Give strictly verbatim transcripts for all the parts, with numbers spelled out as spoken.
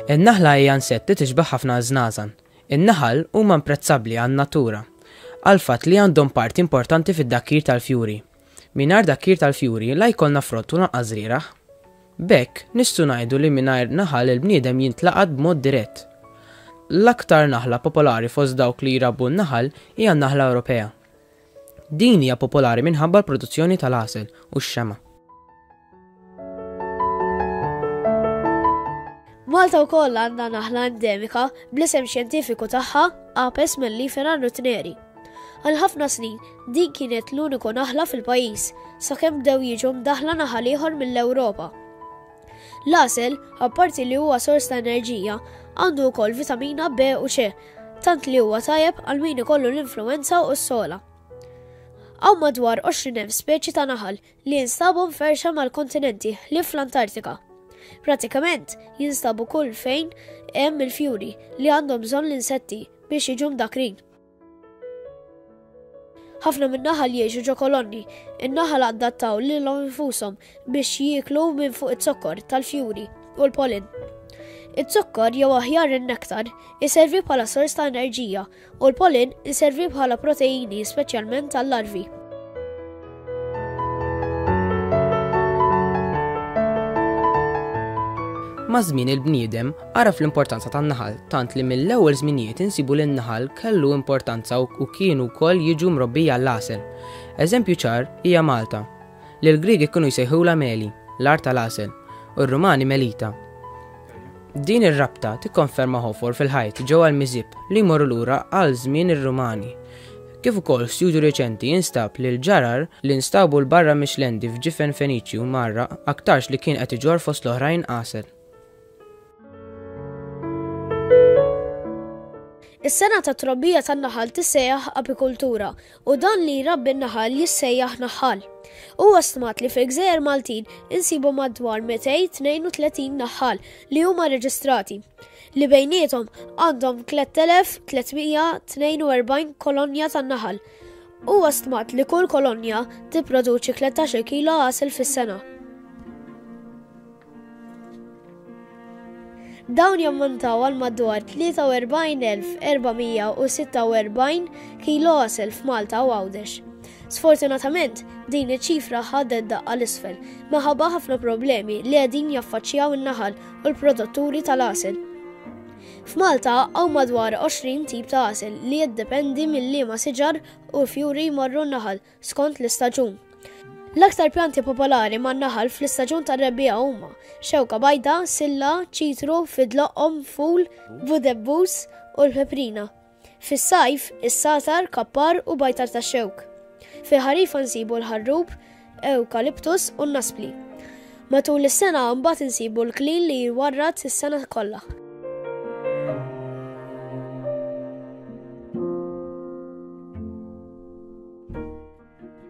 In-naħla hija insett li tixbaħ ħafna żnażan. In-naħal huma imprezzabbli għan-natura għal fatt li għandhom parti importanti fid-dakkir tal-fjuri. Mingħajr dakkir tal-fjuri la jkollna frott u lanqas żrieragħ. B'hekk nistgħu ngħidu li mingħajr naħal il-bniedem jintlaqat b'mod dirett. L-aktar naħla popolari fost dawk li jrabbu n-naħal hija n-naħla Ewropea. Din hija popolari minħabba l-produzzjoni tal-għasel u x-xema. Malta wkoll għandha naħla endemika bl-isem xjentifiku tagħha Apis mellifera ruttneri. Għal ħafna snin din kienet l-uniku naħla fil-pajjiż sakemm bdew jiġu mdaħla naħal ieħor mill-Ewropa. L-għasel, apparti li huwa sors ta' enerġija, għandu wkoll vitamina B u C, tant li huwa tajjeb għal min ikollu l-influenza u s-sola. Hawn madwar għoxrin elf speċi ta' naħal li jinstabu mferxa mal-kontinenti li fl-Antartika. Pratikament jinstabu kull fejn hemm il-fjuri li għandhom bżonn l-insetti biex jiġu mdakrin. Ħafna min-naħal jgħixu ġo kolonni, in-naħal adattaw lilhom infushom biex jieklu minn fuq iz-zokkor tal-fjuri u l-pollen. Iz-zokkor jew aħjar in-nektar iservi bħala sors ta' enerġija u l-pollen iservi bħala proteini speċjalment tal-larvi. Ma' żmien il-bniedem għaraf l-importanza tan-naħal tant li mill-ewwel żminijiet insibu li n-naħal kellu importanza u kienu wkoll jiġu mrobbija l-għasel. Eżempju ċar hija Malta, li l-Griegi kienu jsejħulha Meli, l-art tal-għasel, u r-Rumani Melita. Din ir-rabta tikkonferma ħofor fil-ħajt ġewwa l-Miżib li jmorru lura għal żmien ir-Rumani. Kif ukoll studju reċenti jinstab li l-ġarar li nstabu l barra mix-Xlendi f'ġifen Feniċju marra aktarx li kien qed iġorr fost l-oħrajn għasel. Is-sena ta' trobbija tan-naħal tissejjaħ apikultura u dan li jrabbi n-naħal jissejjaħ naħal. Huwa stmat li fil-Gżejjer Maltin insibu madwar mitejn tnejn u tletin naħal li huma reġistrati, li bejniethom għandhom tliet elef tliet mija tnejn u erbgħin kolonja tan-naħal. Huwa stmat li kull kolonja tipproduċi tlettax-il kilo għasel fis-sena. Dawn jammontaw għal madwar tlieta u erbgħin elf erba' mija u sitta u erbgħin kilo għasel f'Malta u Għawdex. Sfortunatament, din iċ-ċifra ħadet daqqa l-isfel minħabba ħafna problemi li qegħdin jaffaċċjaw in-naħal u l-produtturi tal-għasel. F'Malta hawn madwar għoxrin tip ta' għasel li jiddependi mill-liema siġar u fjuri jmorru n-naħal skont l-istaġun. L-aktar pjanti popolari man-naħal fl-istaġun tar-rebbiegħa huma xewka bajda, silla, ċitru, fidloqom, ful, budebbus u l-peprina. Fis-sajf, is-satar, kappar u bajtar tax-xewk. Fil-ħarifa nsibu l-ħarrub, ewkaliptus u n-naspli. Matul is-sena mbagħad insibu l-klin li jwarrad is-sena kollha.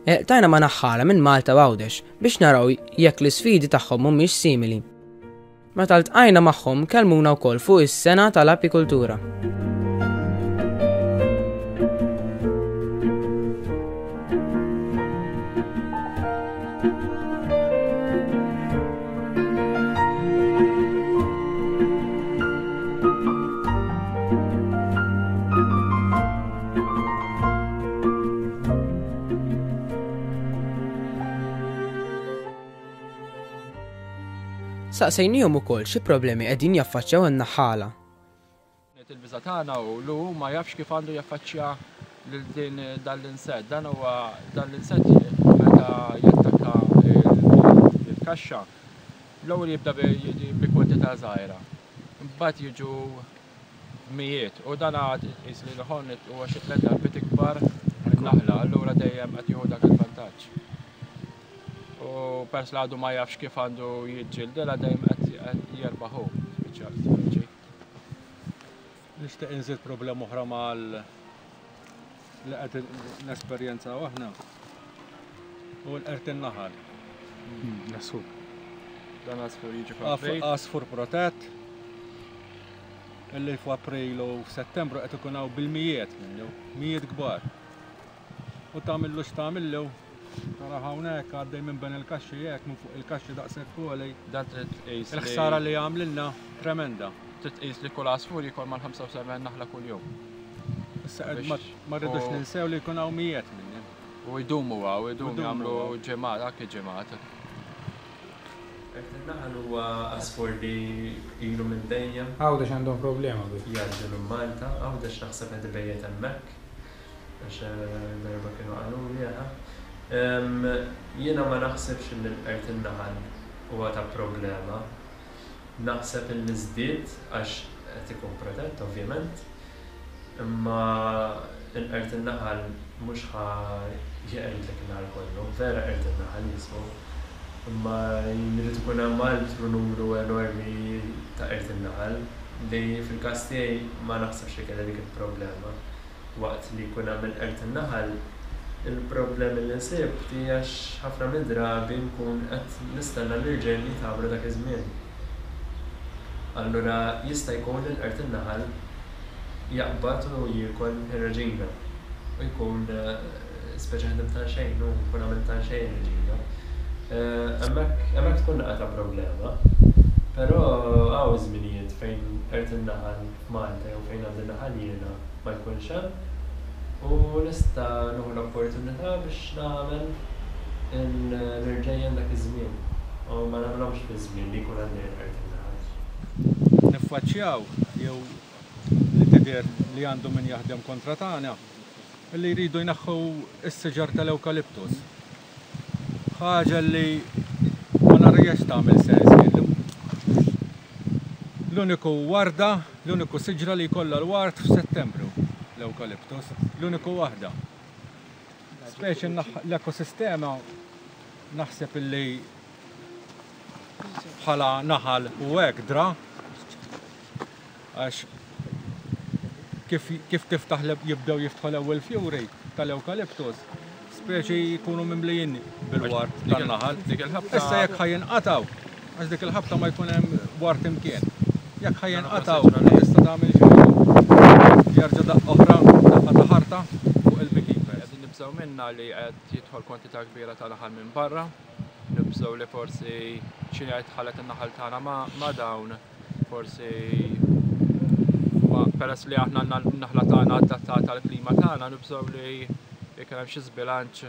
Tajna ma naħħala minn Malta u Għawdex biex naraw jekk l-isfidi tagħhom mhumiex simili. Meta ltqajna magħhom kellmuna wkoll fuq is-sena tal-apikultura. Saqsejnihom ukoll xi problemi qegħdin jaffaċċjaw in-naħħala. Il-biża' tagħna hu li hu ma jafx kif għandu jaffaċċja lil din dan l-insett. Dan huwa dan l-insett meta jattakka il-kaxxa, l-ewwel jibda bi kwantità żgħira. Imbagħad jiġu mijiet u dan għad qis li l-ħon huwa xi tliet darbiet ikbar min-naħla, allura dejjem qed jieħu dak il-vantaġġ. U pers li għadu ma jafx kif għandu jiġġildilha dejjem qed jerbaħ hu, speċi. Nixtieq inżid problema oħra mal li qed nesperjenzaw aħna u l-qert in-naħal. L-għasfur. Dan għasfur jiġi Għaf- f'April. Għasfur protett illi f'April u f'Settembru qed ikun hawn bil-mijiet minnu, mijiet kbar. U tagħmillu x'tagħmillu Tara hawnhekk għaddej minn ben il-kaxxi hekk minn fuq il-kaxxi daqshekk għoli. Dan trid tqis li- Il-ħsara li għamlilna tremenda. Trid tqis li kull għasfur jiekol mal-ħamsa u sebgħin naħla kuljum. Issa qed Biex- ma ma rridux u- ninsew li jkun hawn mijiet minni. U jdumu hawn, jdumu Jdumu jagħmlu hawn. ġimgħat, anke ġimgħat. Qerd in-naħal huwa għasfur li ilu minn dejjem Għawdex għandhom problema bih. jgħaddi minn Malta, Għawdex naħseb qed ibejjet hemmhekk, għax eh, darba kienu qaluli aha. Em, Jiena ma naħsibx li l-qerd in-naħal huwa ta' problema. Naħseb illi żdied għax qed ikun protett ovvjament, imma l-qerd in-naħal mhux ħa jeqridlek in-naħal kollu, vera qerd in-naħal jismu. Imma jrid ikun hemm altru numru enormi ta' qerd in-naħal li fil-każ tiegħi ma naħsibx li kellha dik il-problema. Waqt li jkun hemm il-qerd in-naħal, il-problemi li nsibt hija għax ħafna minn drabi nkun qed nistenna l-irġiel jitgħamlu dak iż-żmien. Allura jista' jkun li l-qerd in-naħal jaqbad u jiekol ir-reġina u jkun eh, speċi ħdim ta' xejn u jkun għamil ta' xejn reġina. Eh, Hemmhekk hemmhekk tkun naqa ta' problema. Però hawn żminijiet fejn qerd in-naħal f'Malta jew fejn għandi naħal jiena ma jkunx hemm u nista' nieħu l-opportunità biex nagħmel l-irġejjen dak iż-żmien u ma nagħmlhomx fi żmien li jkun għandi l-qerd in-naħal. Niffaċċjaw jew li tidher li għandu min jaħdem kontra tagħna li jridu jneħħu s-siġar tal-ewkaliptus. Ħaġa li ma narajiex tagħmel sens jien. L-uniku warda, l-uniku siġra li jkollha l-ward f'Settembru, l-ewkaliptus, l-uniku waħda. Speċi l-ekosistema naħseb illi bħala naħal u hekk dra għax kif, kif tiftaħ l- jibdew jiftħu l-ewwel fjuri tal-ewkaliptus, speċi jkunu mimlijin bil-ward tan-naħal. Dik il-ħabta. Issa jekk ħa jinqatgħu, għax dik il-ħabta ma jkun hemm ward imkien. Jekk ħa jinqatgħu, ma tista' tagħmel xejn. Jerġa' daqqa oħra, daqqa ta' ħarta fuq il-beekeepers. Qegħdin nibżgħu minna li qed jidħol kwantità kbira ta' naħal minn barra, nibżgħu li forsi xi jgħid in-naħal tagħna ma' ma' dawn, forsi ma peress li aħna għandna n-naħla tagħna adattata għall-klima tagħna, nibżgħu li jekk hemm xi żbilanċ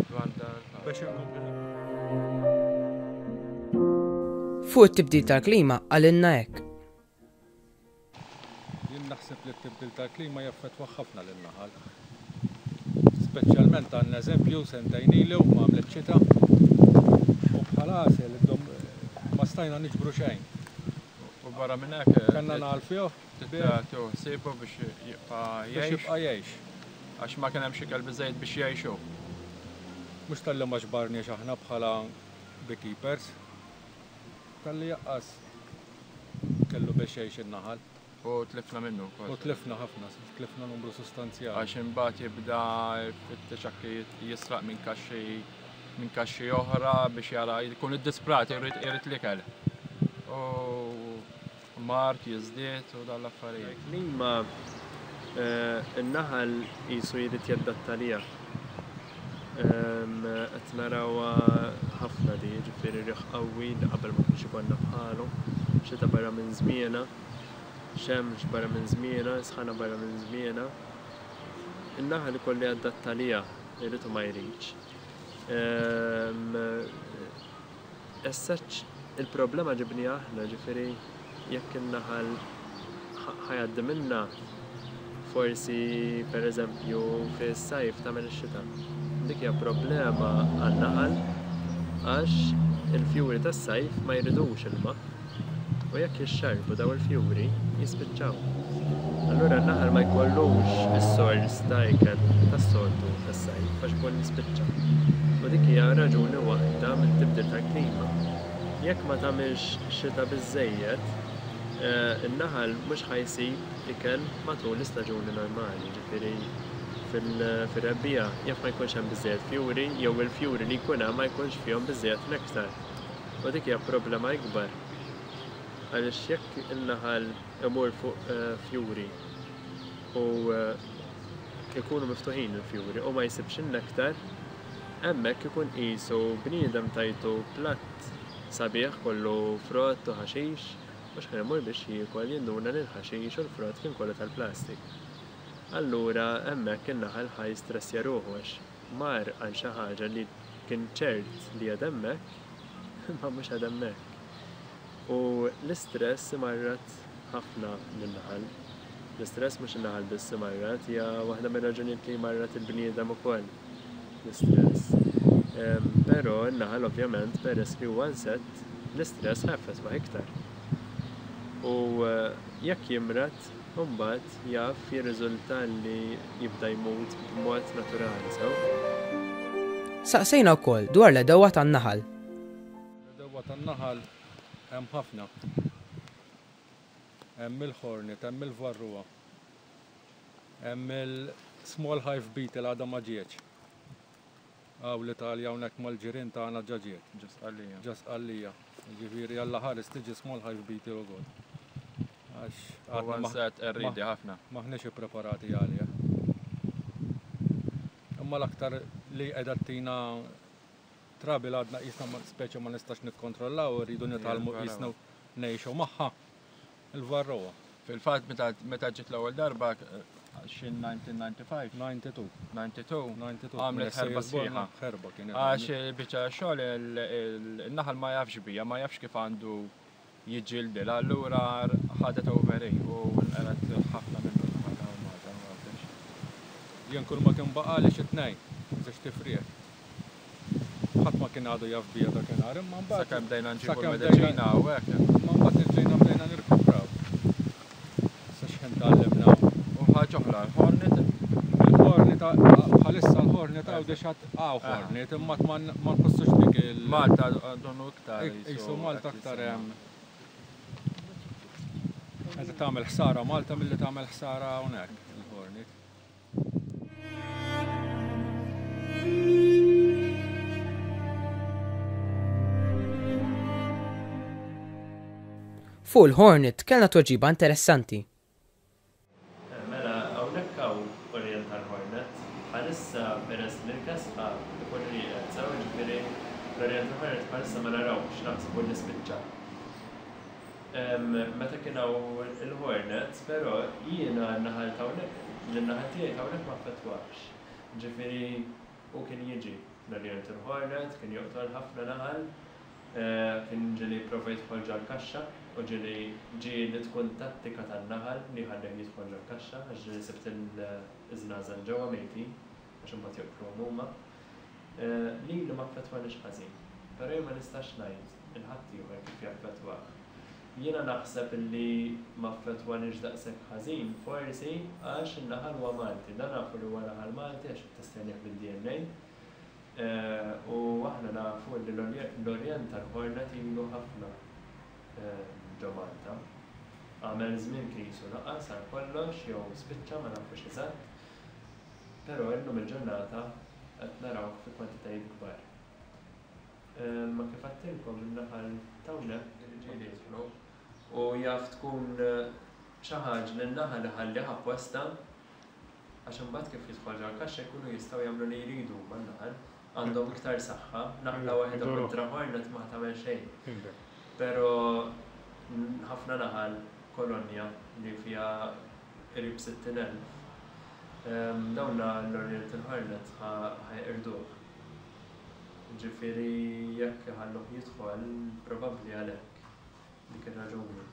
dwar dan. Biex inkompli Fuq it-tibdil tal-klima qalilna hekk. Jien naħseb li t-tibdil tal-klima jaffettwa ħafna lin-naħal. Speċjalment għandna eżempju sentejn ilu ma għamlet xita u bħala għasel iddum ma stajna niġbru xejn. U barra minn hekk Kellna nagħlfuh tieħu ħsiebu biex jibqa' biex jgħix jibqa' jgħix. għax ma kien hemm xi ikel biżejjed biex jgħixu. Mhux talli ma ġbarniex aħna bħala beekeepers, talli jaqqas kellu biex jgħix in-naħal. U tlifna minnu wkoll. U tlifna ħafna, tlifna numru sostanzjali. Għax imbagħad jibda jfittex anke jisraq minn kaxxi minn kaxxi oħra biex jara jkun iddisprat irid irid l-ikel. U mard jiżdied u dan l-affarijiet. Klima eh, in-naħal qisu jrid jadatta liha. Em, Qed narawha ħafna di, ġifieri riħ qawwi li qabel ma kienx ikollna bħalu, xita barra minn żmienha, xemx barra minn żmienha, sħana barra minn żmienha. In-naħal ikollu jadatta liha, irid u ma jridx. Em, As such, il-problema ġibnieha aħna, ġifieri jekk in-naħal ħa jgħaddi minna forsi per eżempju fis-sajf tagħmel ix-xita. Dik hija problema għan-naħal għax il-fjuri tas-sajf ma jridux ilma. U jekk jixxarbu daw il-fjuri jispiċċaw. Allura n-naħal ma jkollux is-sors ta' ikel tas-soltu tas-sajf għax ikun jispiċċa. U dik hija raġuni waħda mit-tibdil tal-klima. Jekk ma tagħmilx xita biżejjed, eh, in-naħal mhux ħa jsib ikel matul l-istaġuni normali, ġifieri fil-rebbiegħa jaf ma jkunx hemm biżejjed fjuri jew il-fjuri li jkun hemm ma jkunx fihom biżejjed nektar. U dik hija problema ikbar. Għaliex jekk in-naħal imur fuq eh, fjuri u eh, ikunu miftuħin il-fjuri u ma jsibx in-nektar, Hemmhekk ikun qisu bniedem tajtu platt sabiħ kollu frott u ħaxix u x'ħin imur biex jiekol jinduna li l-ħaxix u l-frott kien kollu tal-plastik. Allura hemmhekk in-naħal ħa jistressja ruħu għax mar għal xi ħaġa li kien ċert li għad hemmhekk imma mhux għad hemmhekk. U l-istress imarrad ħafna lin-naħal. L-istress mhux in-naħal biss imarrad, hija waħda mir-raġunijiet li jmarrad il-bniedem ukoll l-istress. Però n-naħal ovvjament peress li huwa insett, l-istress ħa jaffettwah iktar. U jekk jimrad, imbagħad jaf jirriżulta li jibda jmut b'mod naturali sew. Saqsejna wkoll dwar l-għedewwa tan-naħal. L-għedewwa tan-naħal hemm ħafna. Hemm il-hornet, hemm il-varroa, hemm il-small hive beetle għadha ma ġietx. Hawn l-Italja hawnhekk mal-ġirien tagħna ġa ġiet. Ġo Sqallija. Ġo Sqallija. Ġifieri Alla ħares tiġi small hive beetle ukoll. Għax Huwa insett qerriedi ħafna. Maħniex ippreparati għalih. Imma l-aktar li qiegħda tina trouble għadna qisna speċi ma nistax nikkontrollaw, rridu nitgħallmu qisna ngħixu magħha il-varroa. Fil-fatt meta ġiet l-ewwel darba xi nineteen ninety-five? ninety-two. ninety-two. ninety-two. Għamlet ħerba sħiħa. Ħerba kienet. Għax biċċa xogħol il-naħal ma jafx bija, ma jafx kif għandu jiġġildilha, allura ħadet over u nqered ħafna minnu l-naħal ta' Malta, ma nafx. Jien kull ma kien baqali xi tnejn, żewġ tifrieħ. Ħadd ma kien għadu jaf bija dakinhar, imma mbagħad Sakemm bdejna nġibu sakemm l-mediċina u hekk. Imma mbagħad ġejna bdejna nirkupraw. Issa x'ħin tgħallimna. U ħaġa oħra, l-hornet. Il-hornet bħalissa l-hornet hawn diġà hawn hornet, imma ma nħossux dik il- Malta donu iktar Qisu Malta aktar hemm. Qed tagħmel ħsara Malta milli tagħmel ħsara hawnhekk il-hornet. Fuq il-hornet kellna tweġiba interessanti. Mela, hawnhekk hawn Oriental Hornet, bħalissa peress li l-kesħa ikun rieqed, sew jiġifieri l-Oriental Hornet bħalissa ma narawx, naħsbu li spiċċa. Meta kien hawn il-Hornet, però jiena n-naħal ta' hawnhekk, l-naħal tiegħi ta' hawnhekk ma affettwax. Ġifieri hu kien jiġi l-Oriental Hornet, kien joqtol ħafna naħal, kien ġieli jipprova jidħol ġol-kaxxa u ġieli ġieli tkun tattika tan-naħal li jħallih jidħol ġol-kaxxa għax ġieli sibt il-żnażan ġewwa mejtin għax imbagħad joqtluhom huma. Lili ma affettwanix ħażin, però jien ma nistax ngħid il-ħaddieħor kif jaffettwah. Jiena naħseb illi ma affettwanix daqshekk ħażin forsi għax in-naħal huwa Malti, dan nafu li huwa naħal Malti għax ittestjnih bid-D N A. U aħna nafu li l-Oriental Hornet ilu ħafna ġo Malta. Għamel żmien kien jisu naqas għal kollox jew spiċċa ma nafux eżatt, però illum il-ġurnata qed naraw fi kwantitajiet kbar. Ma kif għedtilkom in-naħal t'hawnhekk ġieli jidħlu u jaf tkun xi ħaġa li n-naħal iħallih apposta għax imbagħad kif jidħol ġol-kaxxa jkunu jistgħu jagħmlu li jridu man-naħal. Għandhom iktar saħħa, naħla waħedha kontra hornet ma tagħmel xejn. Però ħafna naħal kolonja li fiha qrib sittin elf, dawn l-Oriental Hornet ħajqirduh. Ġifieri jekk iħalluh jidħol, probabbli għalhekk dik ir-raġuni.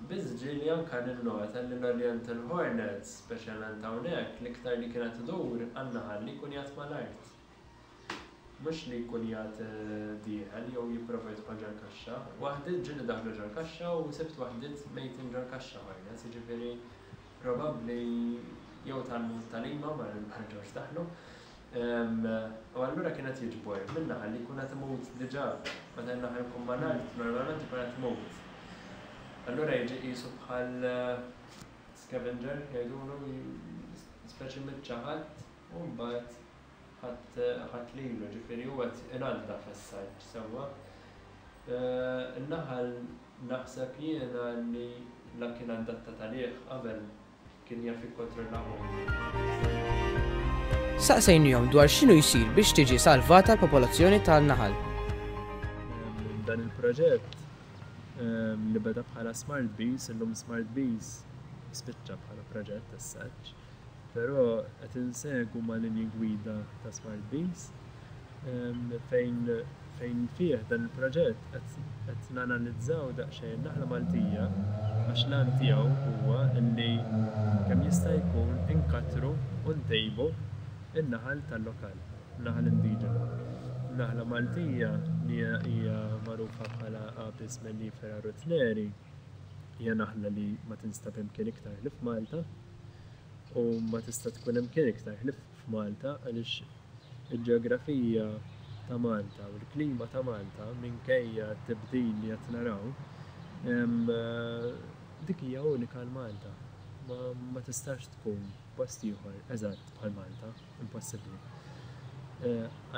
Biss ġieli anke ninnota li l-Oriental Hornets, speċjalment hawnhekk, l-iktar li kienet idur għan-naħal li jkun jgħat mal-art. Mhux li jkun jgħat dieħel jew jipprova jidħol ġol-kaxxa. Waħdiet ġieli daħlu ġol-kaxxa u sibt waħdiet mejtin ġol-kaxxa hornets, jiġifieri probabbli jew tgħallmu tagħlima ma rġgħux daħlu. U allura kienet jiġbor min-naħal li jkun qed imut diġà, meta n-naħal jkun mal-art normalment ikun qed imut. Allura jiġi qisu bħal scavenger jgħidulu speċi miċ-ċaħat u mbagħad ħadd lilu, ġifieri huwa qed inaddaf issa sewwa. In-naħal naħseb jiena li la kien adattat għalih qabel kien jaf jikkontrollahu. Saqsejnihom dwar x'inhu jsir biex tiġi salvata l-popolazzjoni tan-naħal. Dan il-proġett li beda bħala Smart Bees, illum Smart Bees spiċċa bħala proġett as such, però qed insegwu ma' linji gwida ta' Smart Bees fejn fejn fih dan il-proġett qed nanalizzaw daqsxejn naħla Maltija, għax l-għan tiegħu huwa li kemm jista' jkun inkatru u ntejbu in-naħal tal-lokal, naħal indiġenu. Naħla Maltija, li hija magħrufa bħala Apis mellifera ruttneri, hija naħla li ma tinstab imkien iktar ħlief f'Malta u ma tista' tkun imkien iktar ħlief f'Malta, għaliex il-ġeografija ta' Malta u l-klima ta' Malta, minkejja t-tibdil li qed naraw, dik hija unika għal Malta. Ma, ma tistax tkun post ieħor eżatt bħal Malta, impossibbli.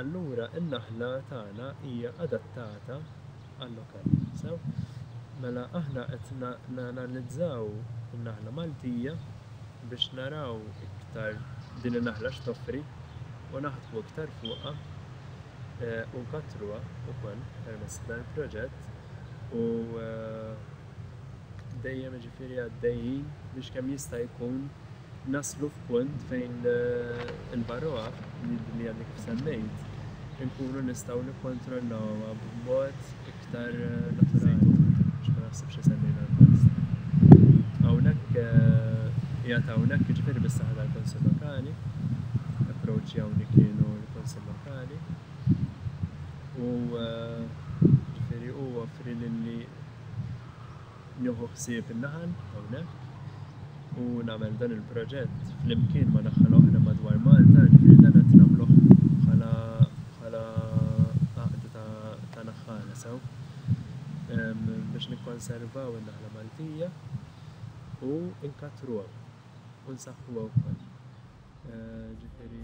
Allura in-naħla tagħna hija adattata għal-lokal. Sew? Mela aħna qed nanalizzaw in-naħla Maltija biex naraw iktar din in-naħla x'toffri u naħdmu iktar fuqha u nkattruha wkoll permezz dan il-proġett, u dejjem ġifieri għaddejjin biex kemm jista' jkun naslu f'punt fejn il-varroa li għadni kif semmejt inkunu nistgħu nikkontrollawha b'mod iktar naturali, biex ma naħsibx li semmejna l-post. Hawnhekk qiegħed hawnhekk jiġifieri bis-saħħa tal-Kunsill Lokali, approċċjawni kienu l-Kunsill Lokali u ġifieri hu offri lili nieħu ħsieb in-naħal hawnhekk u nagħmel dan il-proġett flimkien ma' naħal oħra madwar Malta, ġifieri dan qed nagħmluh bħala bħala għaqda ta' naħħala sew biex nikkonservaw in-naħla Maltija u nkattruha u nsaħħuha wkoll. Ġifieri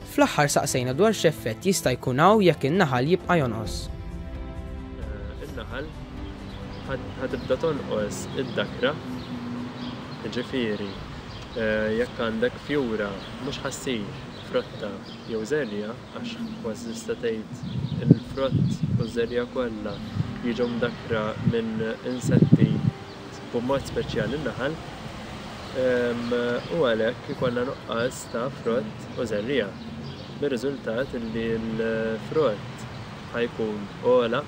Fl-aħħar saqsejna dwar x'effett jista' jkun hawn jekk in-naħal jibqa' jonqos. In-naħal ħa tibda tonqos id-dakra, ġifieri jekk għandek fjura mhux ħa ssir frotta jew żerriegħa, għax kważi tista' tgħid il-frott u ż-żerriegħa kollha jiġu mdakkra minn insetti b'mod speċjali n-naħal, u għalhekk ikollna nuqqas ta' frott u żerriegħa. Bir-riżultat li l-frott ħa jkun ogħla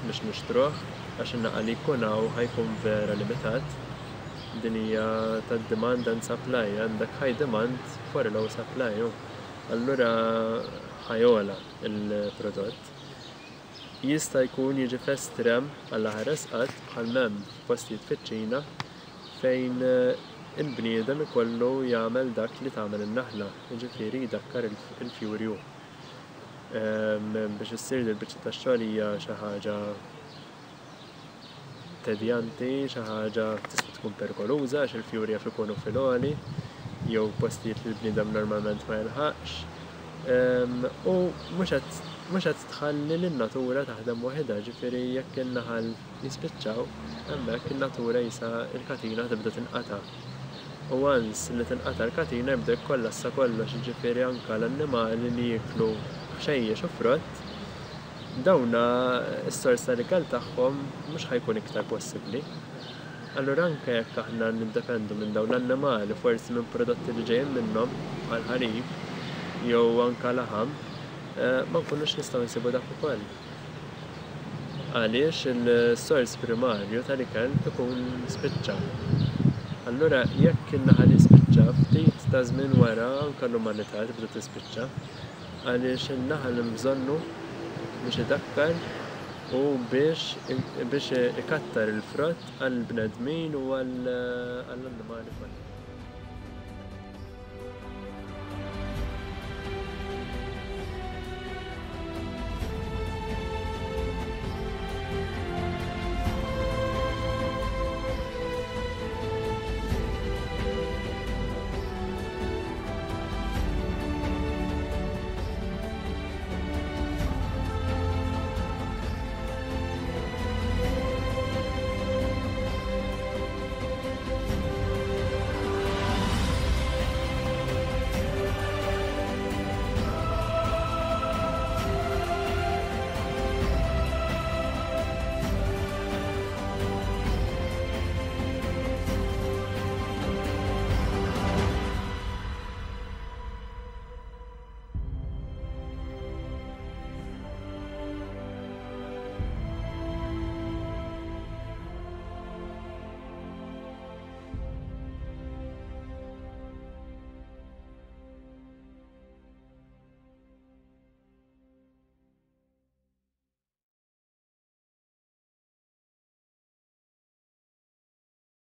biex nixtruh, għax in-naħal li jkun hawn ħa jkun vera limitat. Din hija ta' demand and supply, għandek high demand for a low supply. Allura ħa jogħla il-prodott. Jista' jkun jiġi f'estrem għall-aħħar qatt bħal m'hemm f'postijiet fiċ-Ċina fejn il-bniedem ikollu jagħmel dak li tagħmel in-naħla, jiġifieri jdakkar il-fjuri hu. Biex issir il-biċċa tax-xogħol hija xi ħaġa tedjanti, xi ħaġa tista' tkun perikoluża għax il-fjuri jaf ikunu fil-għoli jew postijiet li l-bniedem normalment ma jilħaqx. U mhux qed tħalli lin-natura taħdem waħedha, ġifieri jekk in-naħal jispiċċaw, hemmhekk in-natura jisa il-katina tibda tinqata'. U once li tinqata' l-katina jibda jkollassa kollox, ġifieri anke l-annimali li jieklu ħxejjex u frott, dawna s-sors tal-ikel tagħhom mhux ħa jkun iktar possibbli. Allura anke jekk aħna niddependu minn dawn l-annimali, forsi minn prodotti li ġejjin minnhom bħal ħalib jew anke laħam, ma nkunux nistgħu nsibu dak ukoll. Għaliex il-sors primarju tal-ikel ikun spiċċa. Allura jekk in-naħal jispiċċa, ftit ta' żmien wara anke l-umanità tibda tispiċċa, għaliex in-naħal hemm bżonnu biex idakkar u biex biex ikattar il-frott għall-bnedmin u għall-annimali kollha.